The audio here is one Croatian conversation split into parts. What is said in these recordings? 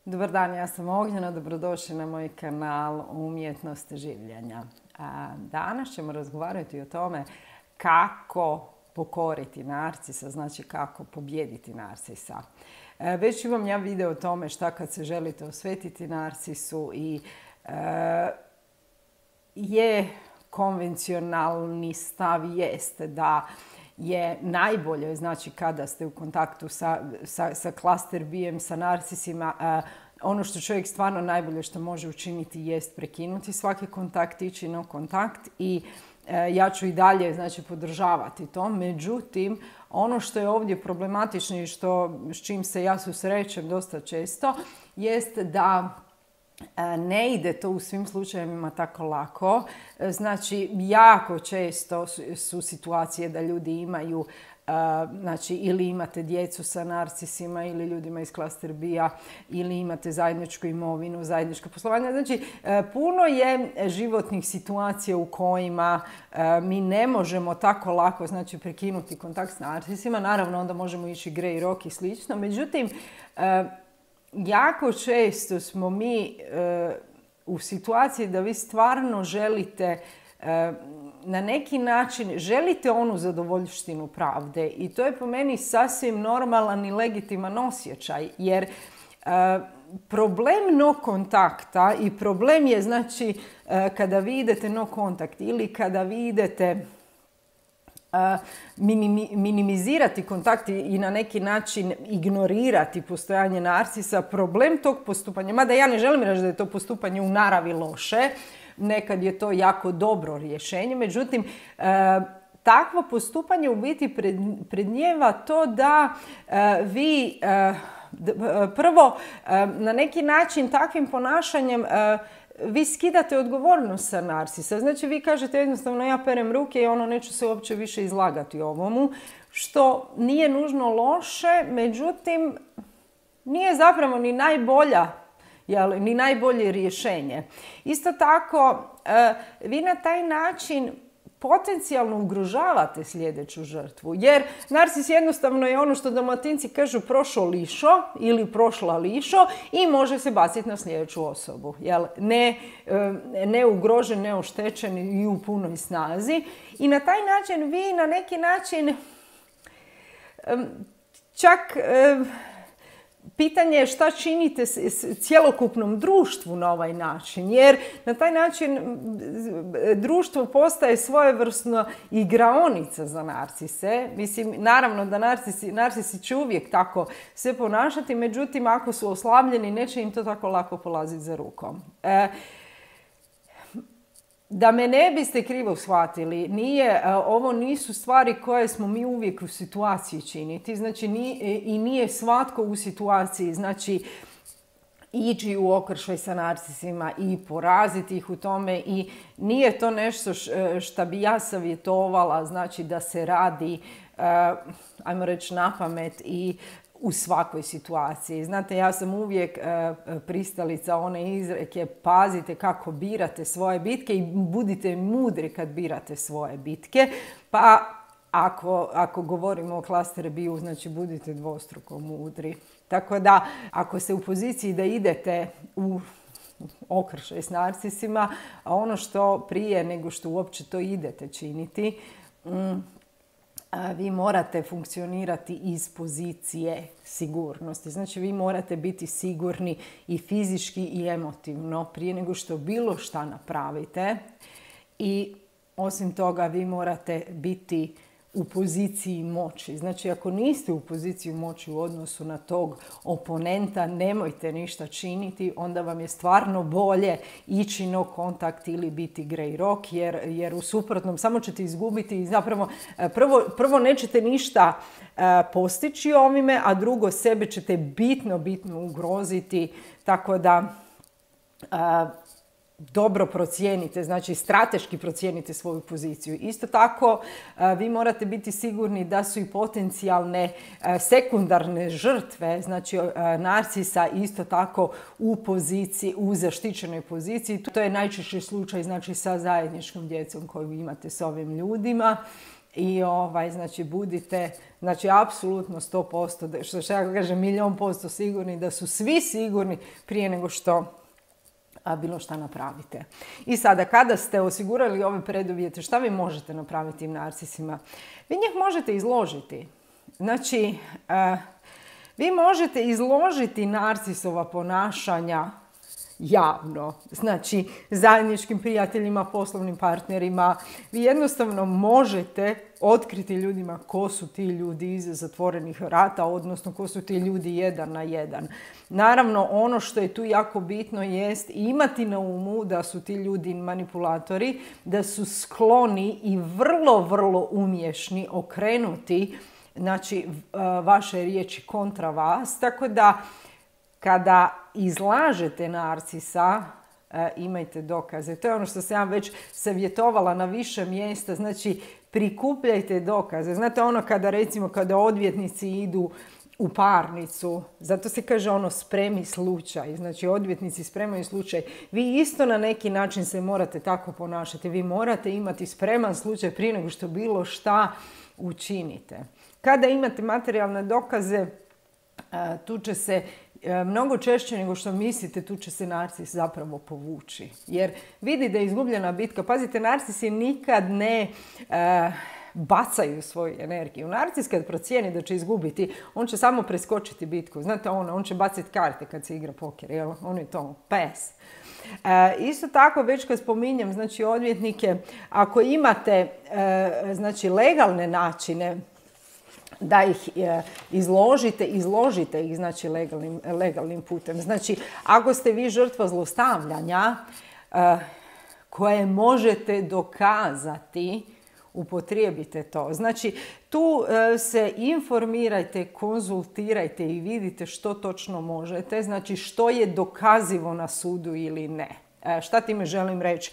Dobar dan, ja sam Ognjena, dobrodošli na moj kanal Umjetnost življenja. Danas ćemo razgovarati o tome kako pokoriti narcisa, znači kako pobijediti narcisa. Već imam ja video o tome šta kad se želite osvetiti narcisu i je konvencionalni stav jeste da je najbolje, znači kada ste u kontaktu sa cluster B-em, sa narcisima, ono što čovjek stvarno najbolje što može učiniti jest prekinuti svaki kontakt, ići na kontakt i ja ću i dalje znači, podržavati to. Međutim, ono što je ovdje problematično i s čim se ja susrećem dosta često jest da ne ide to u svim slučajevima tako lako. Znači, jako često su situacije da ljudi imaju, znači, ili imate djecu sa narcisima ili ljudima iz cluster B-a, ili imate zajedničku imovinu, zajedničko poslovanje. Znači, puno je životnih situacija u kojima mi ne možemo tako lako, znači, prekinuti kontakt s narcisima. Naravno, onda možemo ići grey rock i slično. Međutim, jako često smo mi u situaciji da vi stvarno želite na neki način, želite onu zadovoljštinu pravde i to je po meni sasvim normalan i legitiman osjećaj jer problem no kontakta i problem je znači kada vi idete no kontakt ili kada vi idete minimizirati kontakt i na neki način ignorirati postojanje narcisa, problem tog postupanja, mada ja ne želim reći da je to postupanje u naravi loše, nekad je to jako dobro rješenje, međutim, takvo postupanje u biti prednijeva to da vi prvo na neki način takvim ponašanjem vi skidate odgovornost sa narcisa. Znači vi kažete jednostavno ja perem ruke i neću se uopće više izlagati ovomu, što nije nužno loše, međutim nije zapravo ni ni najbolje rješenje. Isto tako, vi na taj način potencijalno ugrožavate sljedeću žrtvu. Jer narcis jednostavno je ono što Dalmatinci kažu prošao lišo ili prošla lišo i može se baciti na sljedeću osobu. Ne ugrožen, ne oštećen i u punoj snazi. I na taj način vi na neki način čak pitanje je šta činite s cjelokupnom društvu na ovaj način, jer na taj način društvo postaje svojevrsno igraonica za narcise. Mislim, naravno da narcisi će uvijek tako se ponašati, međutim, ako su oslabljeni, neće im to tako lako polaziti za rukom. Da me ne biste krivo shvatili, ovo nisu stvari koje smo mi uvijek u situaciji činiti. Znači, i nije svatko u situaciji, znači, ići u okršaj sa narcisima i poraziti ih u tome i nije to nešto što bi ja savjetovala, znači da se radi, ajmo reći, napamet i u svakoj situaciji. Znate, ja sam uvijek pristalica one izreke pazite kako birate svoje bitke i budite mudri kad birate svoje bitke. Pa ako govorimo o cluster B-u, znači budite dvostruko mudri. Tako da, ako ste u poziciji da idete u okršaj s narcisima, a ono što prije nego što uopće to idete činiti, vi morate funkcionirati iz pozicije sigurnosti. Znači, vi morate biti sigurni i fizički i emotivno prije nego što bilo šta napravite. I osim toga, vi morate biti u poziciji moći. Znači, ako niste u poziciji moći u odnosu na tog oponenta, nemojte ništa činiti, onda vam je stvarno bolje ići no kontakt ili biti grey rock, jer u suprotnom samo ćete izgubiti i zapravo prvo nećete ništa postići ovime, a drugo sebe ćete bitno ugroziti, tako da dobro procijenite, znači strateški procijenite svoju poziciju. Isto tako, vi morate biti sigurni da su i potencijalne sekundarne žrtve, znači narcisa isto tako u zaštićenoj poziciji. To je najčešći slučaj, znači sa zajedničkom djecom koju imate s ovim ljudima. i znači budite, znači apsolutno 100%, što ja kažem 1.000.000% sigurni, da su svi sigurni prije nego što bilo šta napravite. I sada, kada ste osigurali ove preduvjete, šta vi možete napraviti tim narcisima? Vi njih možete izložiti. Znači, vi možete izložiti narcisova ponašanja javno. Znači, zajedničkim prijateljima, poslovnim partnerima. Vi jednostavno možete otkriti ljudima ko su ti ljudi iza zatvorenih vrata, odnosno ko su ti ljudi 1 na 1. Naravno, ono što je tu jako bitno jest imati na umu da su ti ljudi manipulatori, da su skloni i vrlo, vrlo umješni okrenuti, znači, vaše riječi kontra vas. Tako da, kada izlažete narcisa, imajte dokaze. To je ono što sam ja već savjetovala na više mjesta. Znači, prikupljajte dokaze. Znate ono kada odvjetnici idu u parnicu, zato se kaže ono spremi slučaj. Znači, odvjetnici spremaju slučaj. Vi isto na neki način se morate tako ponašati. Vi morate imati spreman slučaj prije nego što bilo šta učinite. Kada imate materijalne dokaze, tu će se mnogo češće nego što mislite, tu će se narcis zapravo povući. Jer vidi da je izgubljena bitka. Pazite, narcisi nikad ne bacaju svoju energiju. Narcis kad procijeni da će izgubiti, on će samo preskočiti bitku. Znate on će baciti karte kad se igra poker, jel? On je to pes. Isto tako, već kad spominjem, znači, odvjetnike, ako imate znači, legalne načine da ih izložite ih, znači, legalnim putem. Znači, ako ste vi žrtva zlostavljanja koje možete dokazati, upotrijebite to. Znači, tu se informirajte, konzultirajte i vidite što točno možete. Znači, što je dokazivo na sudu ili ne. Šta time želim reći?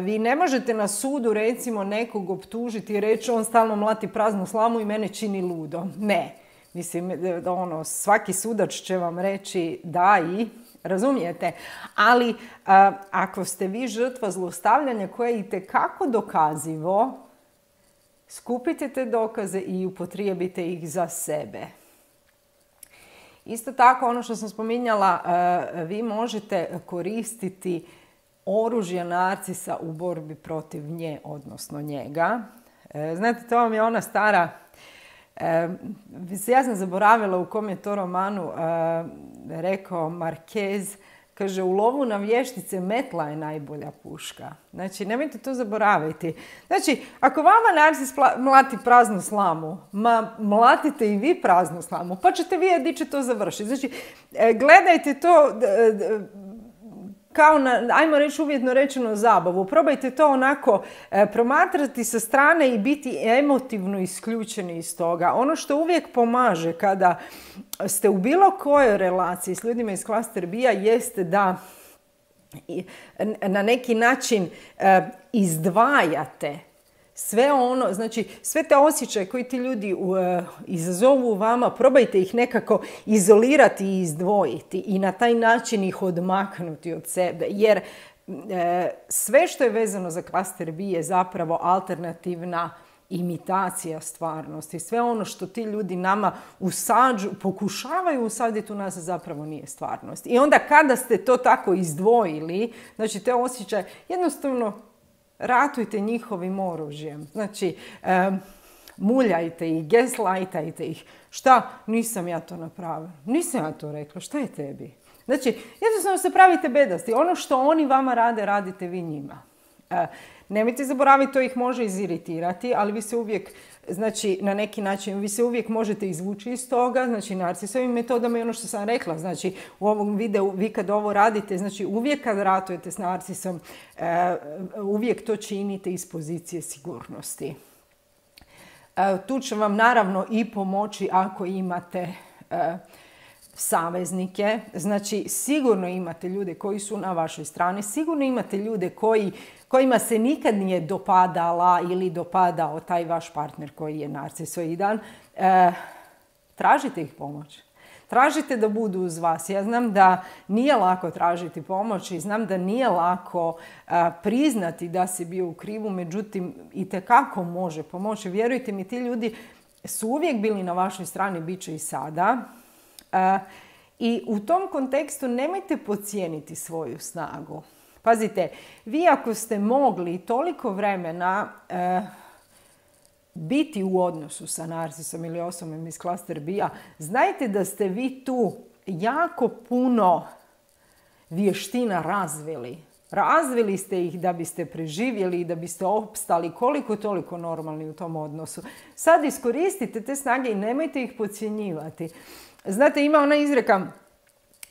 Vi ne možete na sudu, recimo, nekog optužiti i reći on stalno mlati praznu slamu i mene čini ludo. Ne. Mislim, svaki sudac će vam reći da i, razumijete? Ali ako ste vi žrtva zlostavljanja koje je itekako dokazivo, skupite te dokaze i upotrijebite ih za sebe. Isto tako, ono što sam spominjala, vi možete koristiti oružje narcisa u borbi protiv nje, odnosno njega. Znate, to vam je ona stara... Ja sam zaboravila u kom je to romanu rekao Marquez. Kaže, u lovu na vještice metla je najbolja puška. Znači, nemojte to zaboraviti. Znači, ako vama narcis mlati praznu slamu, mlatite i vi praznu slamu, pa ćete vidjeti gdje će to završiti. Znači, gledajte to kao na, ajmo reći uvjetno rečeno, zabavu. Probajte to onako promatrati sa strane i biti emotivno isključeni iz toga. Ono što uvijek pomaže kada ste u bilo kojoj relaciji s ljudima iz klaster B-a jeste da na neki način izdvajate sve ono, znači sve te osjećaje koji ti ljudi izazovu u vama, probajte ih nekako izolirati i izdvojiti i na taj način ih odmaknuti od sebe. Jer sve što je vezano za klaster B je zapravo alternativna imitacija stvarnosti. Sve ono što ti ljudi nama pokušavaju usaditi u nas zapravo nije stvarnost. I onda kada ste to tako izdvojili, znači te osjećaje, jednostavno ratujte njihovim oružjem. Znači, muljajte ih, gaslightajte ih. Šta? Nisam ja to napravila. Nisam ja to rekla. Šta je tebi? Znači, jednostavno se pravite bedasti. Ono što oni vama rade, radite vi njima. Nemojte zaboraviti, to ih može iziritirati, ali vi se uvijek, znači, na neki način, vi se uvijek možete izvući iz toga, znači, narcisovim metodama i ono što sam rekla, znači, u ovom videu, vi kad ovo radite, znači, uvijek kad ratujete s narcisom, uvijek to činite iz pozicije sigurnosti. Tu će vam naravno i pomoći ako imate saveznike, znači sigurno imate ljude koji su na vašoj strani, sigurno imate ljude kojima se nikad nije dopadala ili dopadao taj vaš partner koji je narcisoidan. Tražite ih pomoć. Tražite da budu uz vas. Ja znam da nije lako tražiti pomoć i znam da nije lako priznati da si bio u krivu, međutim itekako može pomoći. Vjerujte mi, ti ljudi su uvijek bili na vašoj strani, bit će i sada. I u tom kontekstu nemojte podcijeniti svoju snagu. Pazite, vi ako ste mogli toliko vremena biti u odnosu sa narcisom ili osobom iz klaster B-a, znajte da ste vi tu jako puno vještina razvili. Razvili ste ih da biste preživjeli i da biste opstali koliko toliko normalni u tom odnosu. Sad iskoristite te snage i nemojte ih podcjenjivati. Znate, ima ona izreka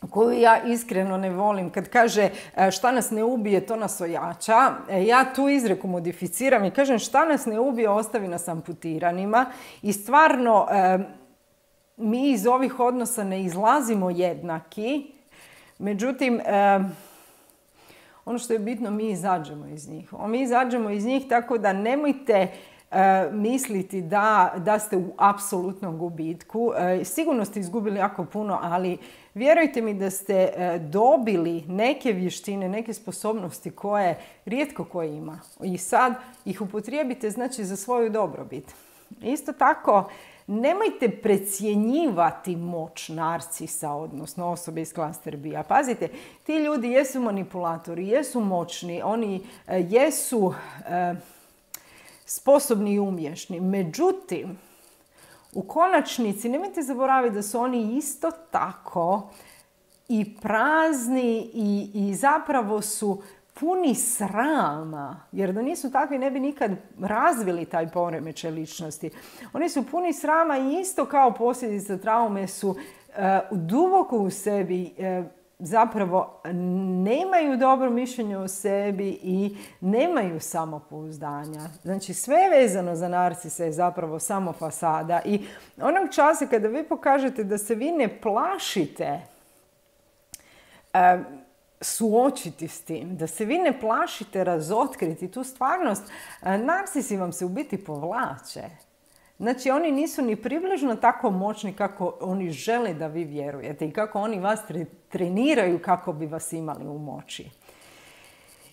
koju ja iskreno ne volim, kad kaže šta nas ne ubije, to nas ojača. Ja tu izreku modificiram i kažem šta nas ne ubije, ostavi nas amputiranima. I stvarno, mi iz ovih odnosa ne izlazimo jednaki. Međutim, ono što je bitno, mi izađemo iz njih. Mi izađemo iz njih tako da nemojte misliti da ste u apsolutnom gubitku. Sigurno ste izgubili jako puno, ali vjerujte mi da ste dobili neke vještine, neke sposobnosti koje rijetko ko ima. I sad ih upotrijebite, znači, za svoju dobrobit. Isto tako, nemojte precjenjivati moć narcisa, odnosno osobe iz klaster B-a. Pazite, ti ljudi jesu manipulatori, jesu moćni, oni jesu sposobni i umješni. Međutim, u konačnici nemojte zaboraviti da su oni isto tako i prazni i zapravo su puni srama. Jer da nisu takvi ne bi nikad razvili taj poremećaj ličnosti. Oni su puni srama i isto kao posljedica traume su duboko u sebi zapravo nemaju dobro mišljenje o sebi i nemaju samopouzdanja. Znači, sve vezano za narcisa je zapravo samo fasada. I onog časa kada vi pokažete da se vi ne plašite suočiti s tim, da se vi ne plašite razotkriti tu stvarnost, narcisi vam se u biti povlače. Znači, oni nisu ni približno tako moćni kako oni žele da vi vjerujete i kako oni vas treniraju kako bi vas imali u moći.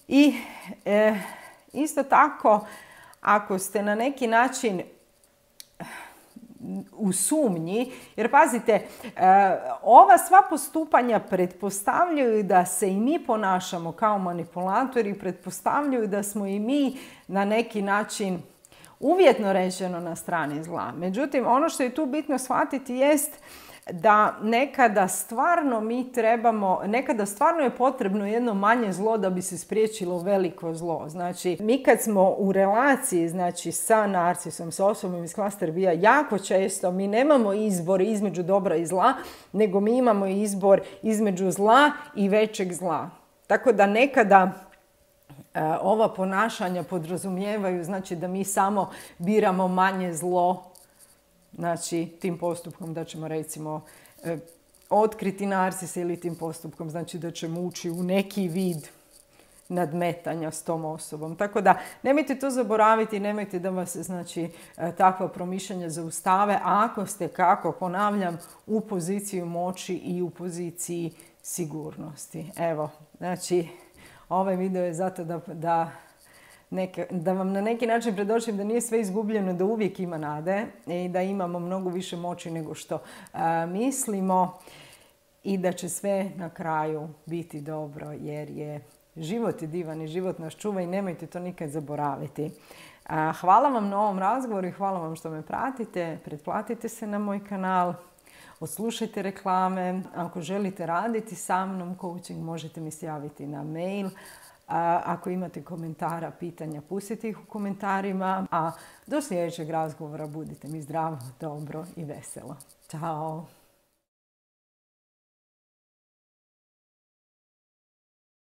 I isto tako, ako ste na neki način u sumnji, jer pazite, ova sva postupanja pretpostavljaju da se i mi ponašamo kao manipulatori, pretpostavljaju da smo i mi na neki način uvjetno rečeno na strani zla. Međutim, ono što je tu bitno shvatiti jest da nekada stvarno nekada stvarno je potrebno jedno manje zlo da bi se spriječilo veliko zlo. Znači, mi kad smo u relaciji, znači, sa narcisom, sa osobom iz klaster B-a, jako često mi nemamo izbor između dobra i zla, nego mi imamo izbor između zla i većeg zla. Tako da nekada ova ponašanja podrazumijevaju, znači, da mi samo biramo manje zlo, znači, tim postupkom da ćemo, recimo, otkriti narcisa ili tim postupkom, znači, da ćemo ući u neki vid nadmetanja s tom osobom. Tako da, nemojte to zaboraviti, nemojte da vas, znači, takva promišljanja zaustave, ako ste, kako ponavljam, u poziciji moći i u poziciji sigurnosti. Evo, znači, ovaj video je zato da vam na neki način predočim da nije sve izgubljeno, da uvijek ima nade i da imamo mnogo više moći nego što mislimo i da će sve na kraju biti dobro, jer je život je divan i život nas čuva i nemojte to nikad zaboraviti. Hvala vam na ovom razgovoru i hvala vam što me pratite. Pretplatite se na moj kanal, odslušajte reklame. Ako želite raditi sa mnom coaching, možete mi se javiti na mail. Ako imate komentara, pitanja, pustite ih u komentarima. A do sljedećeg razgovora budite mi zdravo, dobro i veselo. Ćao!